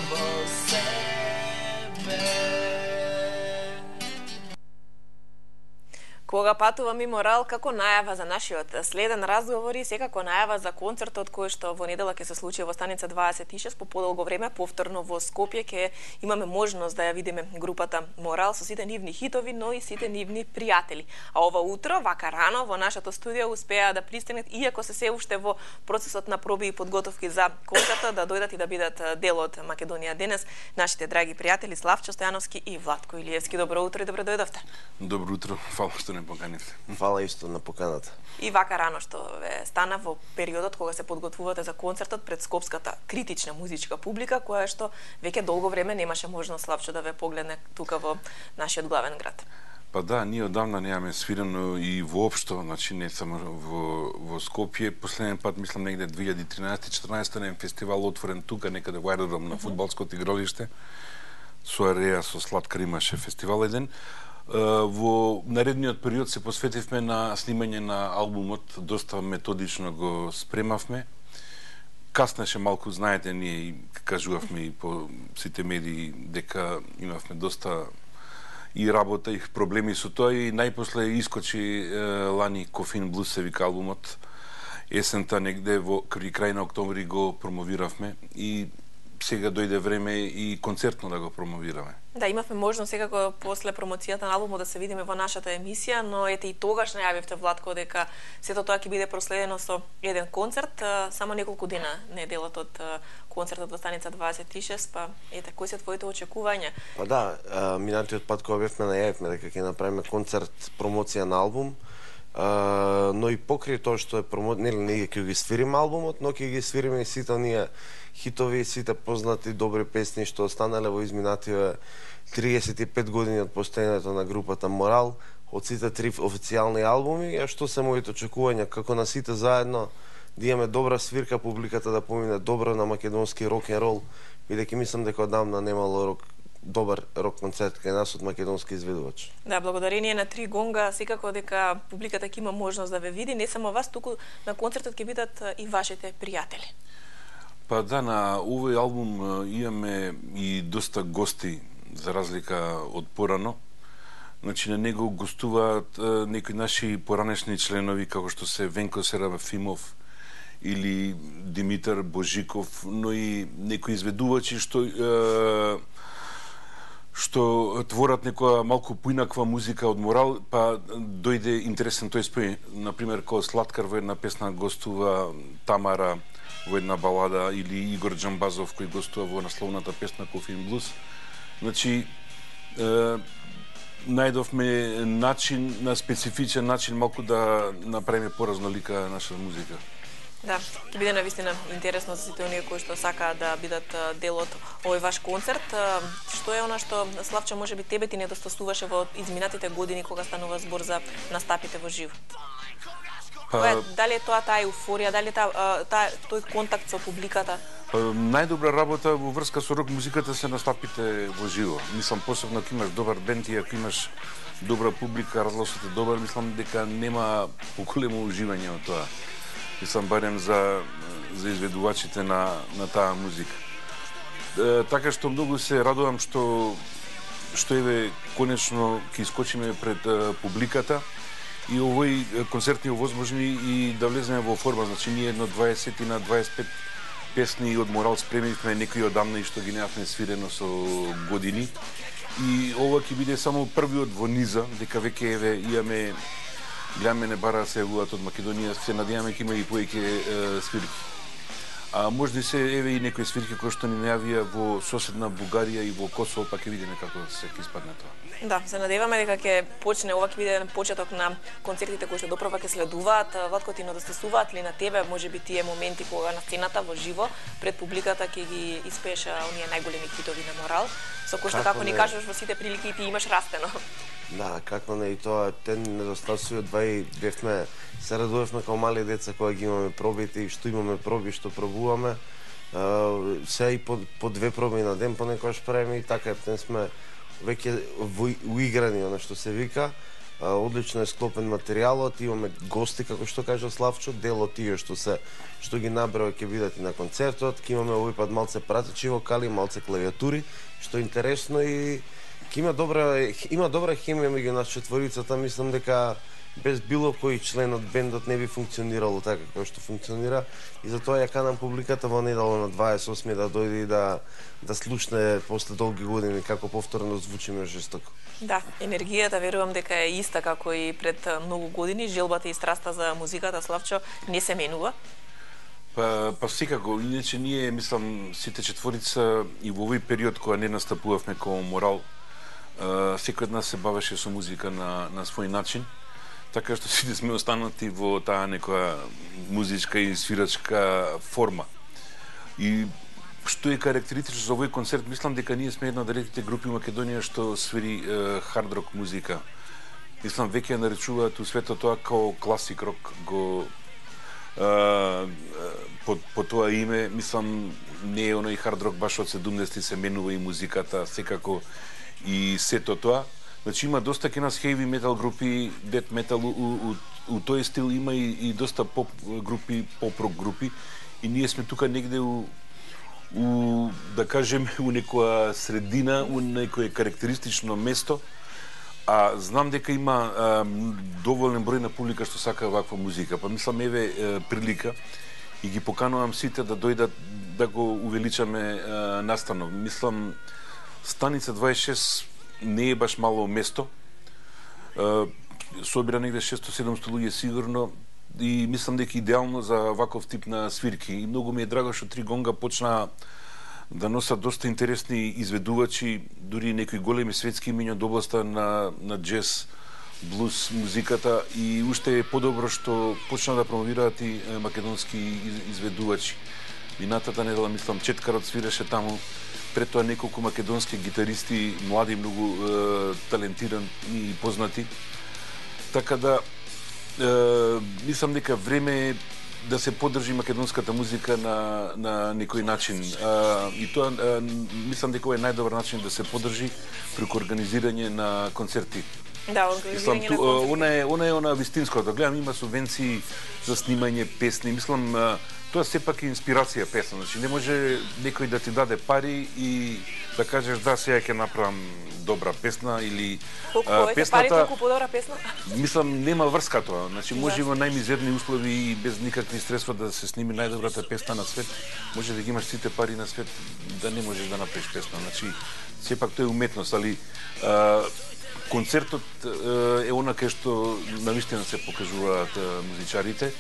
во себе. Кога патувам и Морал како најава за нашиот следен разговор и секако најава за концертот кој што во недела ќе се случи во станица 26 по подолго време повторно во Скопје ќе имаме можност да ја видиме групата Морал со сите нивни хитови, но и сите нивни пријатели. А ова утро, вака рано, во нашето студио успеа да пристигнат, иако се уште во процесот на проби и подготовки за концертот, да дојдат и да бидат дел од Македонија денес, нашите драги пријатели Славчо Стојановски и Владко Илиевски. Добро утро и добро дојдовте. Добро утро, фала што не поканивте. Фала исто на поканата. И вака рано што ве стана во периодот кога се подготвувате за концертот пред скопската критична музичка публика, која што веќе долго време немаше можност, Славчо, да ве погледне тука во нашиот главен град. Па да, ние одамна немаме свирено и воопшто, значи не само во Скопје. Последен пат, мислам, негде 2013-14 на фестивал отворен тука, некаде во аеродром на фудбалското игралиште. Со Ареја, со Сладкар имаше фестивал еден. Во наредниот период се посветивме на снимање на албумот, доста методично го спремавме. Каснеше малку, знаете, ние кажувавме и по сите медии дека имавме доста и работа и проблеми со тоа и најпосле искочи лани Кофин Блус се вика албумот. Есента негде при крај на октомври го промовиравме и сега дојде време и концертно да го промовираме. Да, имавме можност секако после промоцијата на албумот да се видиме во нашата емисија, но ете и тогаш најавивте, Владко, дека сето тоа ќе биде проследено со еден концерт, само неколку дена неделот од концертот во станица 26, па ете, кои се твоите очекувања? Па да, минатиот пат кога бевме најавивме дека ќе направиме концерт промоција на албум, но и покрај тоа што е ние ќе ги свириме албумот, но ќе ги свириме и сите оние хитови, сите познати добри песни што останале во изминативе 35 години од постоењето на групата Морал, од сите 3 официјални албуми, а што се моите очекувања како на сите заедно да имаме добра свирка, публиката да помине добро на македонски рок-н-рол, бидејќи мислам дека одамна немало добар рок концерт кај нас од македонски изведувач. Да, благодарение на Три гонга, секако дека публиката ќе има можност да ве види, не само вас, туку на концертот ќе бидат и вашите пријатели. Па да, на овој албум имаме и доста гости, за разлика од порано. Значи, на него гостуваат некои наши поранешни членови, како што се Венко Серафимов или Димитар Божиков, но и некои изведувачи што творат некоја малку поинаква музика од Морал, па дојде интересен тој спој. Например, кога Сладкар во една песна гостува Тамара во една балада, или Игор Джамбазов кој гостува во насловната песна Кофин Блус. Значи, најдовме начин, на специфичен начин, малку да направиме поразнолика наша музика. Да, ќе биде навистина интересно за сите оние кои што сакаат да бидат дел од овој ваш концерт. Што е она што, Славчо, можеби тебе ти недостасуваше во изминатите години кога станува збор за настапите во живо? Дали е тоа таа еуфорија, дали тој контакт со публиката? Најдобра работа во врска со рок музиката се настапите во живо. Мислам, посебно ако имаш добар бенд и ако имаш добра публика, разгласот е добар, мислам дека нема поголемо уживање од тоа. Мислам, барем за изведувачите на таа музика. Така што многу се радувам што еве конечно ќе искочиме пред публиката и овој концерт ни овозможни и да влеземе во форма. Значи, ние едно 20 на 25 песни од Морал спремивме, некои одамна и што ги немавме свирено со години. И ова ќе биде само првиот во низа, дека веќе еве имаме, гледаме не бара се јавуваат од Македонија, се надеваме ќе има и повеќе свирки. А може се еве и некои свирки кои што ни најавија во соседна Бугарија и во Косово, па ќе видиме како се ќе испадне тоа. Да, се надеваме дека ќе почне, ова ќе биде почеток на концертите кои што доправа ќе следуваат. Владко, ти недостасуваат ли на тебе можеби тие моменти кога на сцената во живо пред публиката ќе ги испееш оние најголеми хитови на Морал, со кои што како ни кажуваш во сите прилики ти имаш растено? Да, како не, и тоа те недостасуваат, бевме се радувавме како мали деца кога ги имаме пробите и што имаме проби, што пробуваме. Се и по 2 проби на ден понекогаш правиме и така, сме веќе уиграни, она што се вика. Одлично е склопен материјалот, имаме гости, како што кажа Славчо, дел од тие што ги набрава ќе бидат и на концертот, ќе имаме овој пат малце пратечи вокали, малце клавиатури, што е интересно и има добра хемија меѓу нас четворицата, мислам дека без било кој член од бендот не би функционирало така како што функционира и затоа ја канам публиката во недела на 28 да дојде и да слушне после долги години како повторно звучиме жестоко. Да, енергијата верувам дека е иста како и пред многу години, желбата и страста за музиката, Славчо, не се менува. Па секако, иначе ние, мислам, сите четворица и во овој период кога не настапувавме како Морал, секој од нас се бавеше со музика на свој начин, така што сите сме останати во таа некоја музичка и свирачка форма. И што е карактеристично за овој концерт, мислам дека ние сме една од редките групи во Македонија што свири хард рок музика. Мислам, веќе ја наречуваат у светот тоа како класик рок, по тоа име, мислам, не е оној хард рок баш од 70-ти, се менува и музиката, секако и сето тоа. Значи има доста ке нас heavy metal групи, death metal, у тој стил има и доста поп групи, поп рок групи и ние сме тука негде да кажем, у некоја средина, у некое карактеристично место, а знам дека има доволен број на публика што сака ваква музика. Па мислам, еве прилика и ги поканувам сите да дојдат да го увеличаме настанок. Мислам, станица 26 не е баш мало место. Собира негде 600-700 луѓе сигурно и мислам дека идеално за ваков тип на свирки. И многу ми е драго што Три Гонга почна да носат доста интересни изведувачи, дури некои големи светски имиња од областа на джез, блуз музиката и уште е подобро што почна да промовираат и македонски изведувачи. Минатата недела, мислам, Четкарот свиреше таму, пред тоа неколку македонски гитаристи, млади, многу талентирани и познати. Така да, мислам дека време е да се поддржи македонската музика на некој начин. И тоа, мислам дека е најдобар начин да се поддржи преку организирање на концерти. Да, организирање на концерти. Она е вистинско. Да гледам, има субвенции за снимање песни. Мислам, тоа сепак е инспирација песна. Значи, не може некој да ти даде пари и да кажеш да, сега ќе направам добра песна или песната... Пари толку подобра песна? Мислам, нема врска тоа. Значи, може во најмизерни услови и без никакви средства да се сними најдобрата песна на свет. Може да ги имаш сите пари на свет, да не можеш да направиш песна. Значи, сепак тоа е уметност, али концертот е она кај што навистина се покажуваат музичарите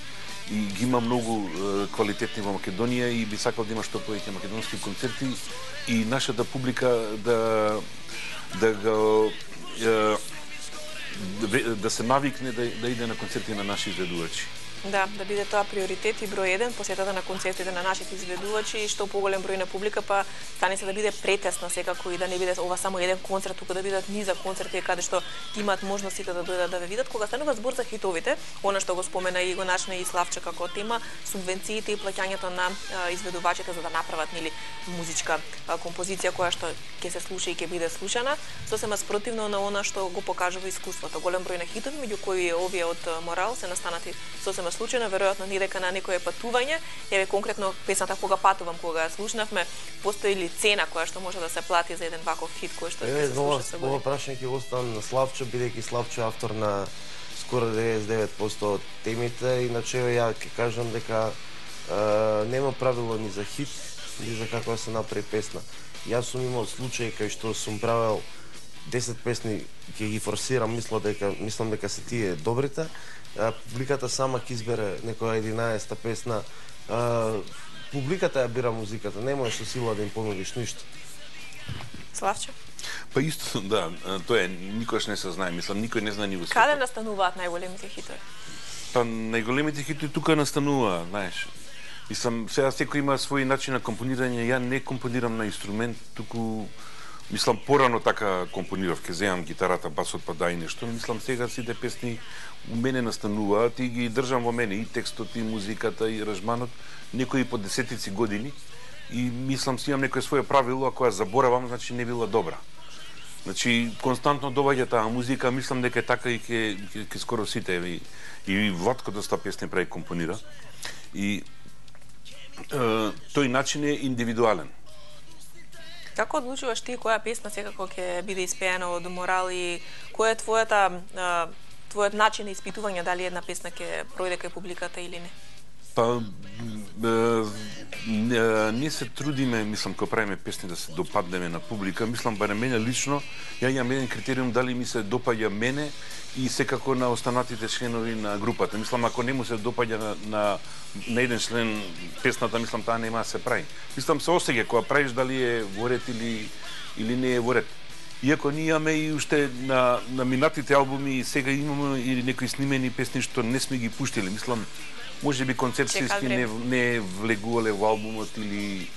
и ги има многу квалитетни во Македонија и би сакал да има што повеќе македонски концерти и нашата публика да се навикне да иде на концерти на наши изведувачи. Да биде тоа приоритет и број 1, посетата на концертите на нашите изведувачи и што поголем број на публика, па станица да биде претесна секако и да не биде ова само еден концерт, туку да бидат низа концерти каде што имаат можностите да дојдат да ве видат. Кога станува збор за хитовите, она што го спомена и го начна и Славче како тема, субвенциите и плаќањето на изведувачите за да направат музичка композиција која што ќе се слуша и ќе биде слушана, сосема спротивно на она што го покажува искуството. Голем број на хитови, меѓу кои овие од Морал се настанати сосема случајно, веројатно не дека на некое патување, еве конкретно песната Кога патувам, кога ја слушнавме, постои ли цена која што може да се плати за еден ваков хит кој што ќе се слуша се години? Ова прашање ќе го оставам на Славчо, бидејќи Славчо е автор на скоро 99% од темите, иначе ја ќе кажам дека нема правило ни за хит, ни за како да се направи песна. Јас сум имал случај кај што сум правел 10 песни, ќе ги форсирам, мислам дека се тие добрите, публиката сама ќе избере некоја 11-та песна. Публиката ја бира музиката, не можеш со сила да им понудиш ништо. Славче? Па исто, да, тоа е, никош не се знае, мислам, никој не знае ни во светот. Каде настануваат најголемите хитови? Па најголемите хитови тука настануваат, знаеш. Мислам, сега секој има свој начин на компонирање, ја не компонирам на инструмент, туку мислам порано така компонирав, ке земам гитарата, басот, па да и нешто, мислам сега сите песни у мене настануваат и ги држам во мене, и текстот, и музиката, и аранжманот, некои по десетици години, и мислам си имам некој свое правило, ако ја заборавам, значи не била добра. Значи, константно доаѓа таа музика, мислам дека е така и ке скоро сите, и Владко доста песни прави, компонира. И тој начин е индивидуален. Како одлучуваш ти која песна секако ќе биде испеена од Морал и кој е твојот начин на испитување дали една песна ќе пројде кај публиката или не? Па, ние се трудиме, мислам, кога правиме песни да се допаднеме на публика. Мислам, барем мене лично, ја имам еден критериум дали ми се допаѓа мене и секако на останатите членови на групата. Мислам, ако не му се допаѓа на еден член песната, мислам, таа нема да се прави. Мислам, се осеќа кога правиш дали е во ред или не е во ред. Иако ние имаме и уште на минатите албуми, сега имаме и некои снимени песни што не сме ги пуштили. Мислам, може би концепцијски не влегувале во албумот или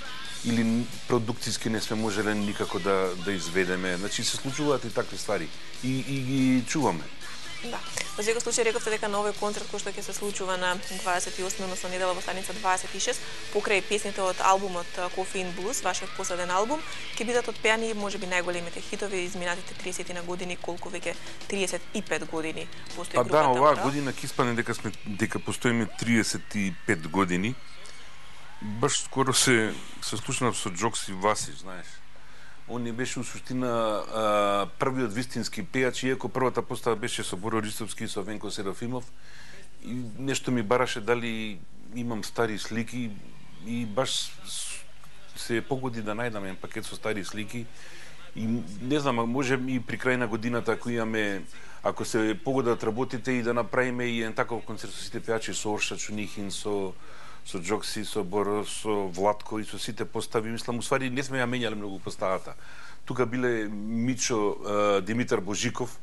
продукцијски не сме можеле никако да изведеме. Значи се случуваат и такви ствари. И ги чуваме. Да. Во секој случај рековте дека на овој концерт кој што ќе се случува на 28, односно недела во станица 26, покрај песните од албумот Coffee in Blues, вашиот последен албум, ќе бидат отпеани можеби најголемите хитови изминатите 30 на години, колку веќе 35 години постои групата. Па да, оваа година ќе испадне дека постоиме 35 години. Баш скоро се слушнав со Джокси Васич, знаеш. Он не беше у суштина првиот вистински пејач, иако првата постава беше со Боро Ристовски и со Венко Серафимов. И нешто ми бараше дали имам стари слики и баш се погоди да најдам еден пакет со стари слики. И не знам, може и при крај на годината ако се погодат работите и да направиме и еден таков концерт со сите пејачи, со Орша Чунихин, со Джокси, со Боро, со Владко и со сите постави, мислам, усвари не сме ја менјале многу поставата. Тука биле Мичо Димитар Божиков,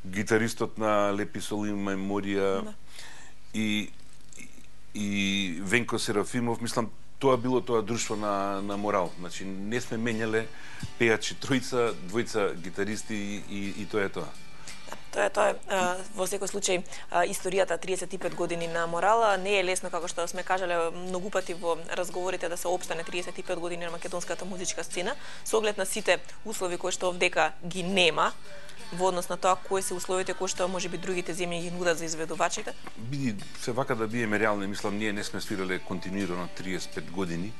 гитаристот на Лепи Соли Меморија, и Венко Серафимов, мислам, тоа било тоа друштво на Морал. Значи, не сме менјале пејачи, тројца, двојца гитаристи и тоа е тоа. Тоа е во секој случај историјата 35 години на Морала. Не е лесно, како што сме кажале многу пати во разговорите, да се опстане 35 години на македонската музичка сцена, со оглед на сите услови кои што овдека ги нема, во однос на тоа кои се условите кои што можеби другите земји ги нудат за изведувачите. Биди се вака да биеме реални, мислам, ние не сме свирале континуирано 35 години.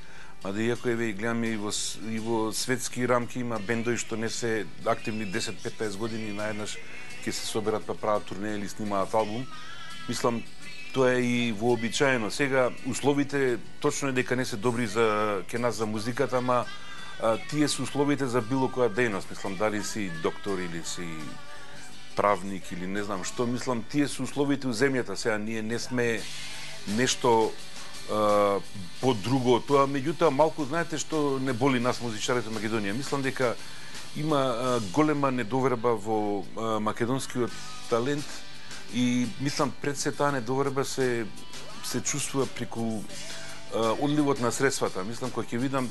Мада иако еве гледаме и во светски рамки има бендови што не се активни 10-15 години, наеднаш ќе се соберат па прават турне или снимаат албум. Мислам, тоа е и вообичаено. Сега условите точно е дека не се добри за нас за музиката, ама тие се условите за било која дејност. Мислам, дали си доктор или си правник или не знам што, мислам, тие се условите у земјата. Сега ние не сме нешто по-друго. Тоа, меѓутоа, малку знаете што не боли нас музичарите во Македонија. Мислам дека има голема недоверба во македонскиот талент и мислам пред се таа недоверба се чувствува преку одливот на средствата. Мислам, кога ќе видам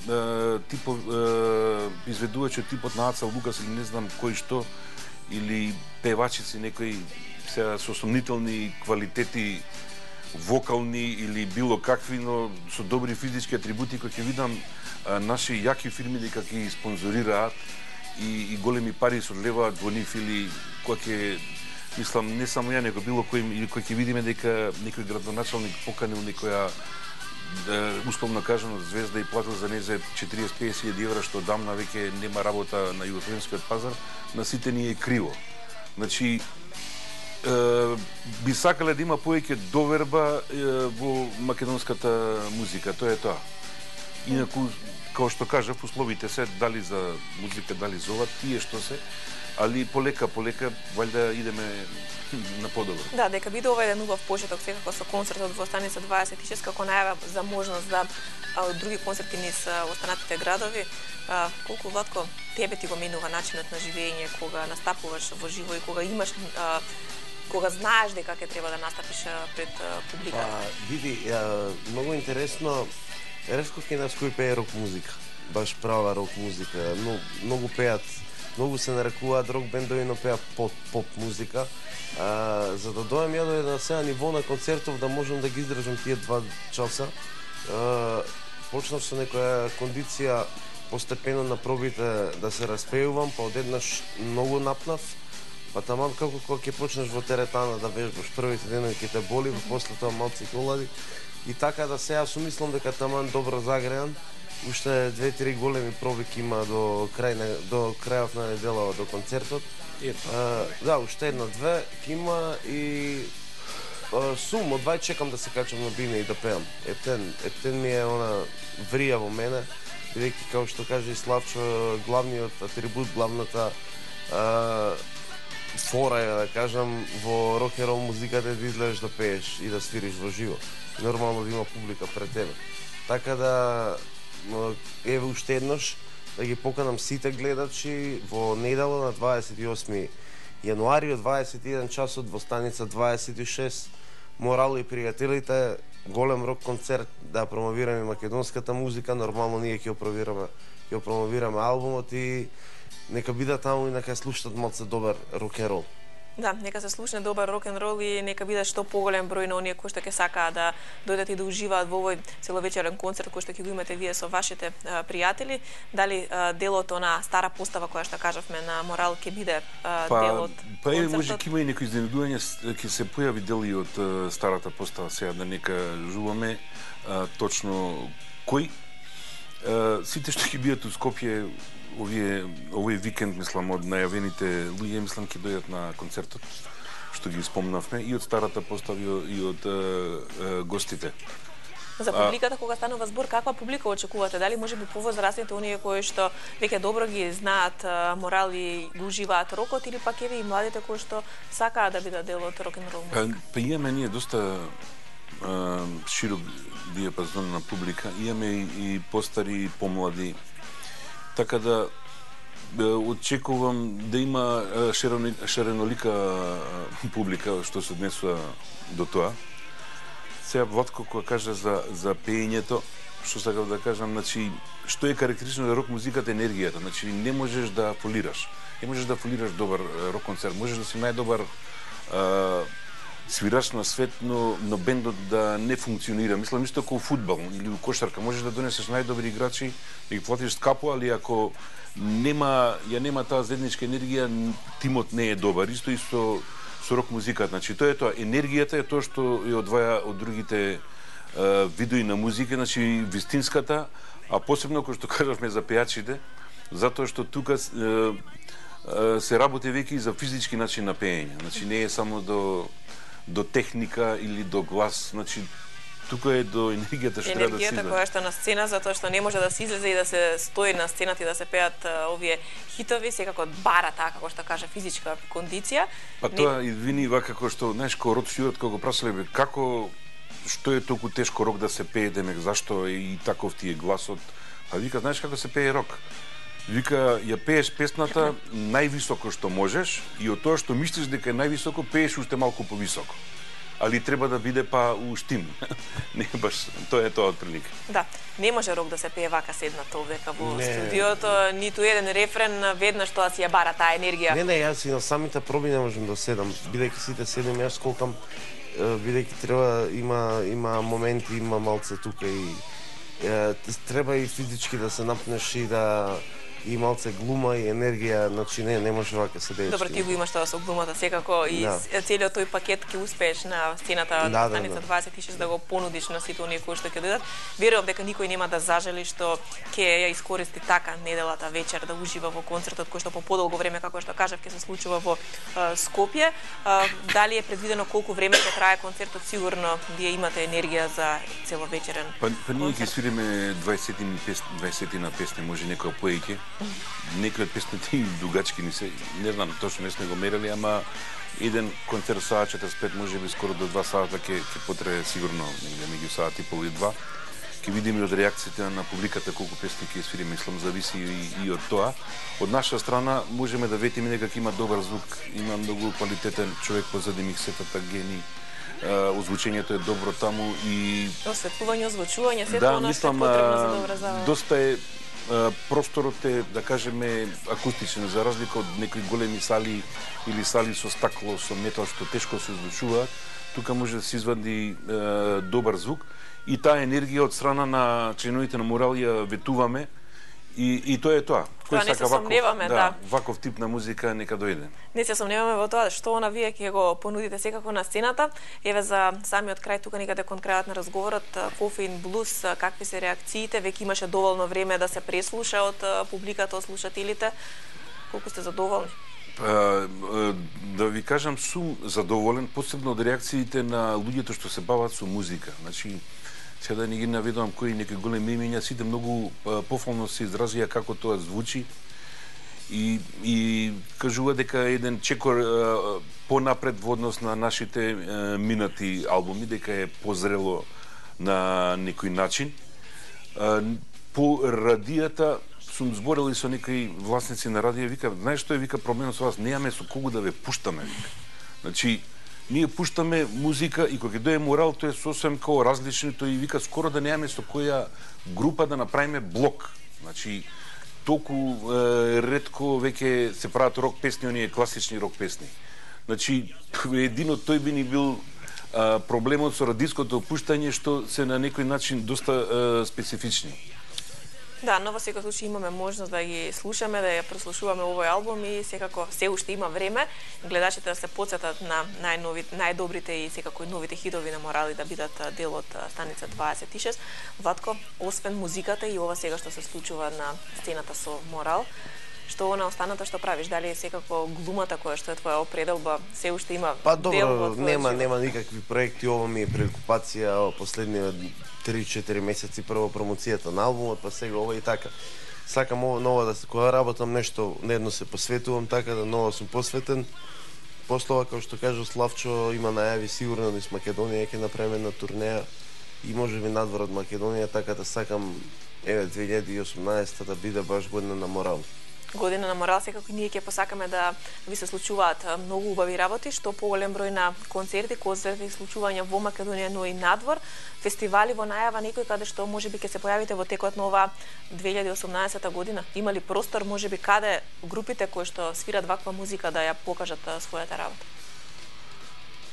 изведувачи типот на Аца Лукас или не знам кој што, или певачици некои се со сомнителни квалитети вокални или било какви, но со добри физички атрибути, кога ќе видам наши јаки фирми дека ги спонзорираат и големи пари се одлеваат во нив, или кога ќе, мислам, не само ја, него било кој, или кога ќе видиме дека некој градоначалник поканил некоја условно кажано звезда и платил за нејзе 40-50 евра, што дамна веќе нема работа на југословенскиот пазар, на сите ни е криво. Значи, би сакале да има повеќе доверба во македонската музика, тоа е тоа. Инаку, како што кажав, условите се дали за музика, дали за ова, тие што се, али полека, валјда идеме на подобро. Да, дека биде ова еден убав почеток секако со концертот во станица 26, како најава за можност да други концерти низ останатите градови. Колку, Владко, тебе ти го менува начинот на живење кога настапуваш во живо и кога имаш кога знаеш дека ќе треба да настапиш пред публика? Види, многу интересно, ретко кај нас кој пее рок музика, баш права рок музика, многу пеат, многу се нарекуваат рок бендови, но пеат поп музика. За да дојам ја до една сега ниво на концертов, да можам да ги издржам тие 2 часа, почнав со некоја кондиција постепено на пробите да се распеувам, па одеднаш многу напнав, па таман како кога ќе почнеш во теретана да вежбаш, првите денови ќе те боли, после тоа малку ќе олади. И така да сега сумислам дека таман добро загреан, уште 2-3 големи проби ќе има до крајот на неделава, до концертот. Да, уште една-две ќе има и сум, одвај чекам да се качам на бине и да пеам. Ептен ми е она врија во мене, бидејќи како што каже и Славчо, главниот атрибут, главната фора е, да кажам, во рок-н-рол музиката е да излезеш да пееш и да свириш во живо. Нормално да има публика пред тебе. Така да, еве уште еднош, да ги поканам сите гледачи во недела на 28 јануари од 21 часот во станица 26. Морал и пријателите, голем рок концерт, да промовираме македонската музика, нормално ние ќе ја промовираме албумот и нека бидат таму и нека слушнат малце добар рок-н-рол. Да, нека се слушне добар рок-н-рол и нека биде што поголем број на оние кои што ќе сакаат да дојдат и да уживаат во овој целовечерен концерт кој што ќе го имате вие со вашите пријатели. Дали делот на стара постава која што кажавме на Морал ќе биде дел од концертот? Може ќе има и некои изненадување, ќе се појави дел и од старата постава, сега да нека жуваме точно кој. Сите што ќе бидат у Скопје овој викенд, мислам, од најавените луѓе, мислам, ќе дојдат на концертот, што ги спомнавме, и од старата постава и од гостите. За публиката, кога станува збор, каква публика очекувате? Дали може би повозрастните, оние кои што веќе добро ги знаат Морал и го уживаат рокот, или пак еве и младите кои што сакаат да бидат дел од рок-н-рол музика? Па имаме ние доста широк диапазон на публика, имаме и постари и помлади. Така да очекувам да има ширенолика публика што се однесува до тоа. Сега Владко кога кажа за пеењето, што сакав да кажам, значи што е карактеристично за рок музиката е енергијата, значи не можеш да фолираш. Не можеш да фолираш добар рок концерт, можеш да си најдобар свираш на свет, но бендот да не функционира. Мислам исто како фудбал или у кошарка, можеш да донесеш најдобри играчи и ги платиш скапо, али ако нема таа заедничка енергија, тимот не е добар. Исто со рок музиката. Значи тоа е тоа, енергијата е тоа што ја одваја од другите видои на музика, значи вистинската, а посебно кој што кажавме за пејачите, затоа што тука се работи веќе и за физички начин на пеење. Значи не е само до техника или до глас, значи тука е до енергијата што треба да се излезе. Енергијата која што на сцена, затоа што не може да се излезе и да се стои на сцената и да се пеат овие хитови, секако бара таа, како што кажа, физичка кондиција. Па тоа извини вака како што, знаеш, ко Род Стюарт кога го прашале како што е толку тешко рок да се пее, демек зашто е и таков ти е гласот. А вика, знаеш како се пее рок? Вика, ја пееш песната највисоко што можеш и од тоа што мислиш дека е највисоко, пееш уште малку повисоко. Али треба да биде па уштим. Не баш, тоа е тоа отприлика. Да, не може рок да се пее вака седнато овдека во студиото, ниту еден рефрен, веднаш тоа си ја бара таа енергија. Не, јас и на самите проби не можам да седам, бидејќи сите седам, јас скокам, бидејќи треба, има моменти, има малце тука и треба и физички да се напнеш и да и малце глума и енергија, значи не може вака се дееш. Добро, ти го имаш тоа со глумата секако и целиот тој пакет ќе успееш на сцената на станица 26 да го понудиш на сите оние кои што ќе дојдат. Верувам дека никој нема да зажели што ќе ја искористи така неделата вечер да ужива во концертот кој што по подолго време, како што кажав, ќе се случува во Скопје. Дали е предвидено колку време ќе трае концертот? Сигурно вие имате енергија за целовечерен. Па ние ќе свириме 20 на песни, може некоја поеќе. Некои од песните и дугачки не се, не знам, точно не сме го мерали, ама еден концерт саат 45, може би скоро до 2 сата ќе потрае сигурно негде меѓу саат и пол и 2. Ќе видиме од реакциите на публиката колку песни ќе свириме, мислам зависи и од тоа. Од наша страна можеме да ветиме дека има добар звук, има многу квалитетен човек позади миксетата, гени. Озвучењето е добро таму и осветлување, озвучување, сето она што е потребно за добра забава. Доста е просторот е, да кажеме, акустичен, за разлика од некои големи сали или сали со стакло, со метал, што тешко се озвучуваат. Тука може да се извади добар звук и таа енергија од страна на членовите на Морал ја ветуваме И тоа е тоа. Кој сака ваков тип на музика, нека дојде. Не се сомневаме во тоа што она вие ќе го понудите секако на сцената. Еве за самиот крај тука некаде кон крајот на разговорот, Кофеин блуз, какви се реакциите? Веќе имаше доволно време да се преслуша од публиката, од слушателите. Колку сте задоволни? Да ви кажам, сум задоволен, посебно од реакциите на луѓето што се бават со музика. Значи, сега да не ги наведувам кои некои големи имиња, сите многу пофално се изразија како тоа звучи и кажува дека еден чекор понапред во однос на нашите минати албуми, дека е позрело на некој начин. По радијата сум зборел и со некои власници на радија, вика, знаеш што е, вика, проблемот со вас, немаме со кого да ве пуштаме, вика. Значи, ние пуштаме музика и кога ќе дое Морал, тоа е сосем као различно, тој вика скоро да немаме со која група да направиме блок. Значи, толку ретко веќе се прават рок песни, оние класични рок песни. Значи, един од тој би ни бил проблемот со радиското пуштање, што се на некој начин доста специфични. Да, но во секој случај имаме можност да ги слушаме, да ја прослушуваме овој албум и секако се уште има време гледачите да се потсетат на најдобрите и секако и новите хитови на Морал и да бидат дел од станица 26. Владко, освен музиката и ова сега што се случува на сцената со Морал, што на останата што правиш? Дали е секако глумата која што е твоја определба се уште има дел во твојот живот? Нема никакви проекти, ова ми е преокупација последниот 3-4 месеци, прво промоцијата на албумот, па сега ова и така. Сакам ново да кога работам нешто, недно се посветувам, така да ново сум посветен. Послова, како што кажа Славчо, има најави сигурно низ Македонија, ќе направиме на турнеја и можеби надвор од Македонија, така да сакам 2018 да биде баш година на Морал. Година на Морал, секако ние ќе посакаме да ви се случуваат многу убави работи, што поголем број на концерти и случувања во Македонија, но и надвор, фестивали во најава некој каде што можеби ќе се појавите во текот на ова 2018 година. Има ли простор можеби каде групите кои што свират ваква музика да ја покажат својата работа?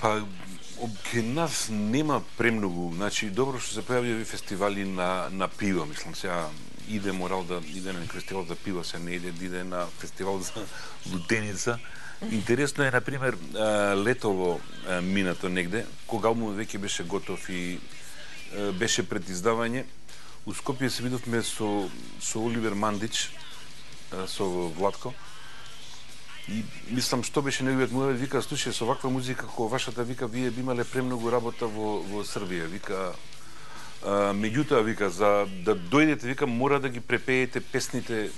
Па ке нас нема премногу, значи добро што се појавија фестивали на пиво, мислам сега иде Морал да иде на фестивал за пиво, се не иде на фестивал за лутеница. Интересно е, например, летово минато негде, кога албумот веќе беше готов и беше пред издавање, у Скопје се видовме со Оливер Мандич, со Владко, и мислам што беше неговиот муавет, вика, слушај, со ваква музика како вашата, вика, вие би имале премногу работа во Србија, вика, меѓутоа, вика, за да дојдете, вика, мора да ги препеете песните,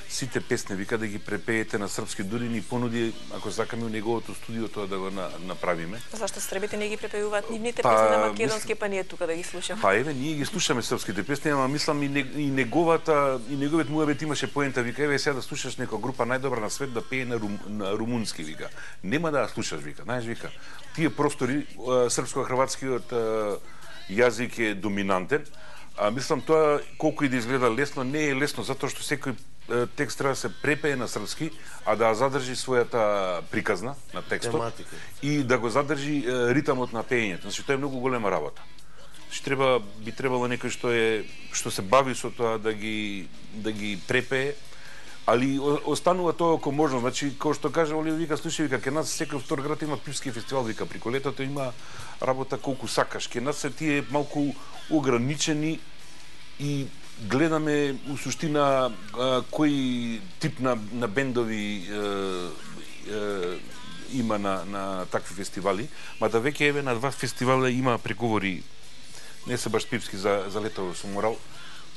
сите песни, вика, да ги препеете на српски, дури ни понуди, ако сакаме у неговото студио тоа да го направиме. Зашто србите не ги препеуваат нивните песни на македонски, па ние тука да ги слушаме? Па еве, ние ги слушаме српските песни, ама мислам и неговиот муабет имаше поента, вика, еве сега да слушаш некоја група најдобра на свет да пее на румунски, вика. Нема да ја слушаш, вика, знаеш, вика. Тие простори, српско-хрватскиот јазик е доминантен, а мислам тоа колку и да изгледа лесно, не е лесно, затоа што секој текст треба да се препее на српски, а да задржи својата приказна на текстот тематика и да го задржи ритамот на пеењето. Значи тоа е многу голема работа. Значи би требало некој што се бави со тоа да ги препее, али останува тоа како можно. Значи, како што кажа Оливер, вика, слушај, вика, ке нас секој втор град има пивски фестивал, вика, прико летото има работа колку сакаш. Ке нас се тие малку ограничени и гледаме у суштина кој тип на бендови има на такви фестивали, ма да веќе еве на 2 фестивала има преговори, не се баш пивски за летово со Морал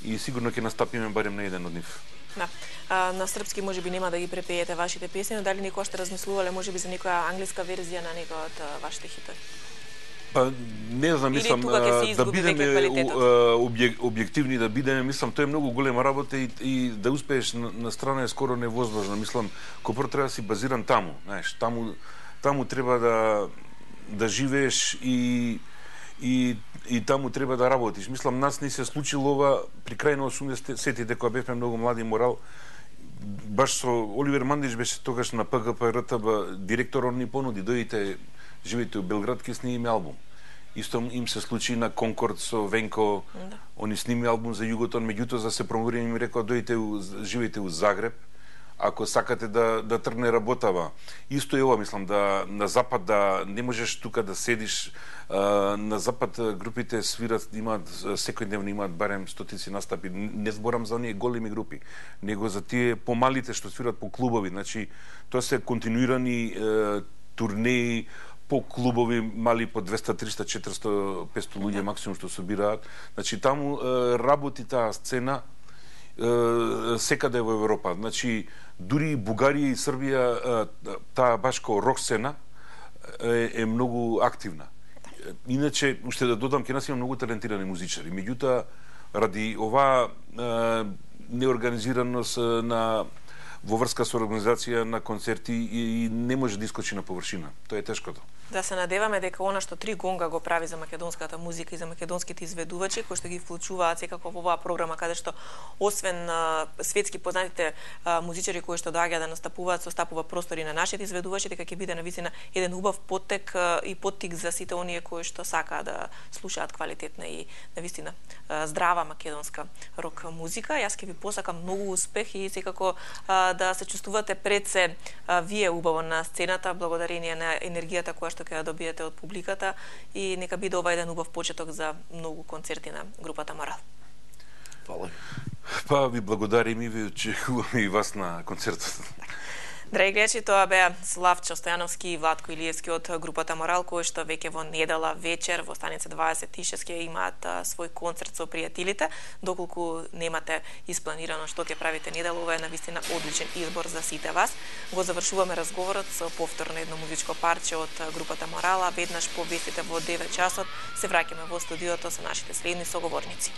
и сигурно ќе настапиме барем на еден од нив. Да. На српски можеби нема да ги препеете вашите песни, но дали некоја што размислувале можеби за некоја англиска верзија на некој од вашите хитови? Па не знам, мислам да бидеме објективни, да бидеме, мислам тоа е многу голема работа и да успееш на страна е скоро невозможно. Мислам, кој треба да си базиран таму, знаеш, таму треба да живееш и таму треба да работиш. Мислам, нас не се случило ова при крај на 80-тите, кога бевме многу млади Морал, баш со Оливер Мандич беше тогаш на ПГП РТБ директор, он ни понуди, дојдите, живеете у Белград, ке снимиме албум. Исто им се случи на Конкорд со Венко. Да. Они сними албум за Југотон, меѓутоа за се промовира им рекоа дојдете живеете у Загреб, ако сакате да тргне работава. Исто е ова, мислам, да на запад да не можеш тука да седиш. На запад групите свират, имаат секојдневно имаат барем стотици настапи. Не зборам за оние големи групи, него за тие помалите што свират по клубови. Значи, тоа се континуирани турнеи по клубови мали по 200, 300, 400, 500 луѓе максимум што собираат. Значи таму работи таа сцена секаде во Европа. Значи дури Бугарија и Србија таа баш како рок сцена е многу активна. Иначе уште да додам, ке нас има многу талентирани музичари. Меѓутоа ради оваа неорганизираност во врска со организација на концерти и не може да искочи на површина. Тоа е тешкото. Да се надеваме дека она што Три Гонга го прави за македонската музика и за македонските изведувачи, кои што ги вклучуваат секако во оваа програма, каде што освен светски познатите музичари кои што доаѓаат да настапуваат, состапува простори на нашите изведувачи, дека ќе биде навистина еден убав поттек и поттик за сите оние кои што сакаат да слушаат квалитетна и навистина здрава македонска рок музика. Јас ќе ви посакам многу успех и секако да се чувствувате пред се вие убаво на сцената, благодарение на енергијата која што ќе ја добиете од публиката, и нека биде ова еден убав почеток за многу концерти на групата Морал. Фала. Па ви благодарим и ви очекуваме и вас на концертот. Драги гледачи, тоа беа Славчо Стојановски и Владко Илиевски од групата Морал, кои што веќе во недела вечер во станица 26 ќе имаат свој концерт со пријателите. Доколку немате испланирано што ќе правите недела, ова е навистина одличен избор за сите вас. Го завршуваме разговорот со повторно едно музичко парче од групата Морала. Веднаш по вестите во 9 часот се враќаме во студиото со нашите следни соговорници.